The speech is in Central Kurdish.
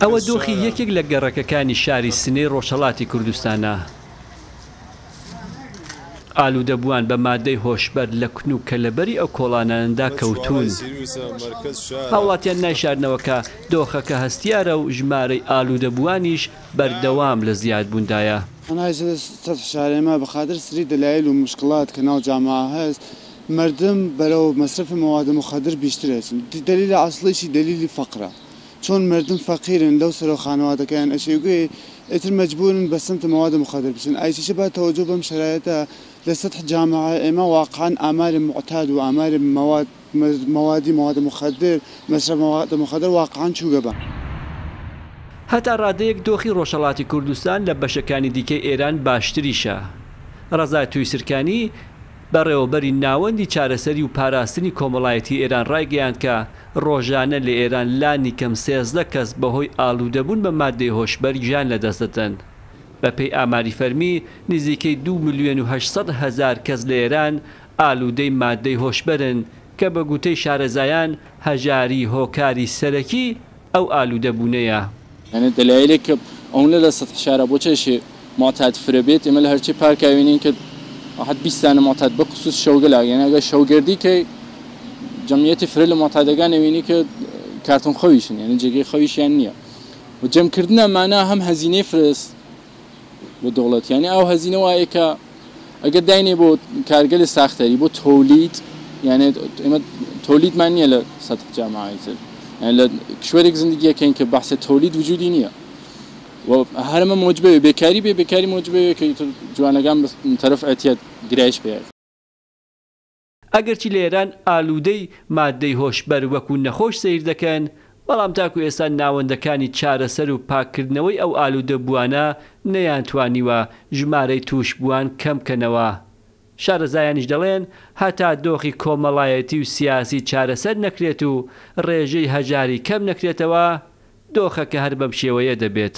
ئەوە دۆخی یەکێک لە گەڕەکەکانی شاری سنەی ڕۆژهەڵاتی کوردستانە. ئالوودەبووان بە مادەی هۆشبەر لە کون و کەلەبەری ئەو کۆڵانانەدا کەوتوون. هاوڵاتیان نایشارنەوە کە دۆخەکە هەستیارە و ژمارەی ئالوودەبووانیش بەردەوام لە زیادبووندایە. مردم بەرەو مصرف مواد مخدر بیشتر ئەچن دلیل اصلیشی دلیلی فەقرە چۆن مردم فەقیرن لەو سەرەو خانەوادەکەیان ئەشێوگێ ئیتر مەجبورن بە سمت مواد مخدر بچن ئایچیشە با توجه بەم شرایطە لە سطح جامعە ئێمە واقعا ئامار معتاد و ئامار مواد موادی مواد مخدر مصرف مواد مخدر واقعا چووگە بە. هەتا ڕادەیەک دۆخی ڕۆژهەڵاتی کوردستان لە بەشەکانی دیکەی ئێران باشتریشە. ڕەزا تویسرکانی، بەڕێوەبەری ناوەندی چارەسەری و پاراستنی کۆمەڵایەتی ئێران ڕایگەیاند کە ڕۆژانە لە ئێران لانیکەم 13 کەس بەهۆی ئالوودەبوون بە ماددەی هۆشبەر گیان لەدەست دەدەن. بەپێی ئاماری فەرمی نزیکەی دوو ملیۆن و 800,000 کەس لە ئێران ئالوودەی ماددەی هۆشبەرن کە بە گوتەی شارەزایان هەژاری هۆکاری سەرەکی ئەو ئالوودەبوونەیە. یعنی دەلایلێک کە ئەونە لە سەتح شارە بۆ چێشێ معتاد فرە بێت ئێمە لە هەرچی پارکا وینین کە واحد 20 دانە معتاد بە خصوص شەوگەلا یعنی ئەگەر شەوگەردی کە جەمعیەتی فرە لە معتادەکان ئەوینی کە کارتۆن خەویشن یعنی جێگەی خەویشیان نییە و جەمکردنە مانا هەم هەزینەی فرەس بۆ دەوڵەت یعنی ئەو هەزینە وایە کە ئەگەر داینێ بۆ کارگەلی ساختەری بۆ تۆلید یعنی ئێمە تۆلیدمان نییە لە سەتح جامعەی تر یعنی لە کشوەرێک زندگیەکەین کە بەحسە تۆلید وجودی نییە و هەرمە موجبێ بێکاری بێ بێکاری موجبێ کە جوانەکان تەرەف ئەتیاد گرایش پێ. ئەگەرچی لە ئێران ئالوودەی ماددەی هۆشبەر وەکو نەخۆش سەیر دەکەن، بەڵام تاکو ئێستا ناوەندەکانی چارەسەر و پاککردنەوەی ئەو ئالوودەبووانە نەیانتوانیوە ژمارەی تووشبووان کەم کەنەوە. شارەزایانیش دەڵێن هەتا دۆخی کۆمەڵایەتی و سیاسی چارەسەر نەکرێت و ڕێژەی هەژاری کەم نەکرێتەوە، دۆخەکە هەر بەم شێوەیە دەبێت.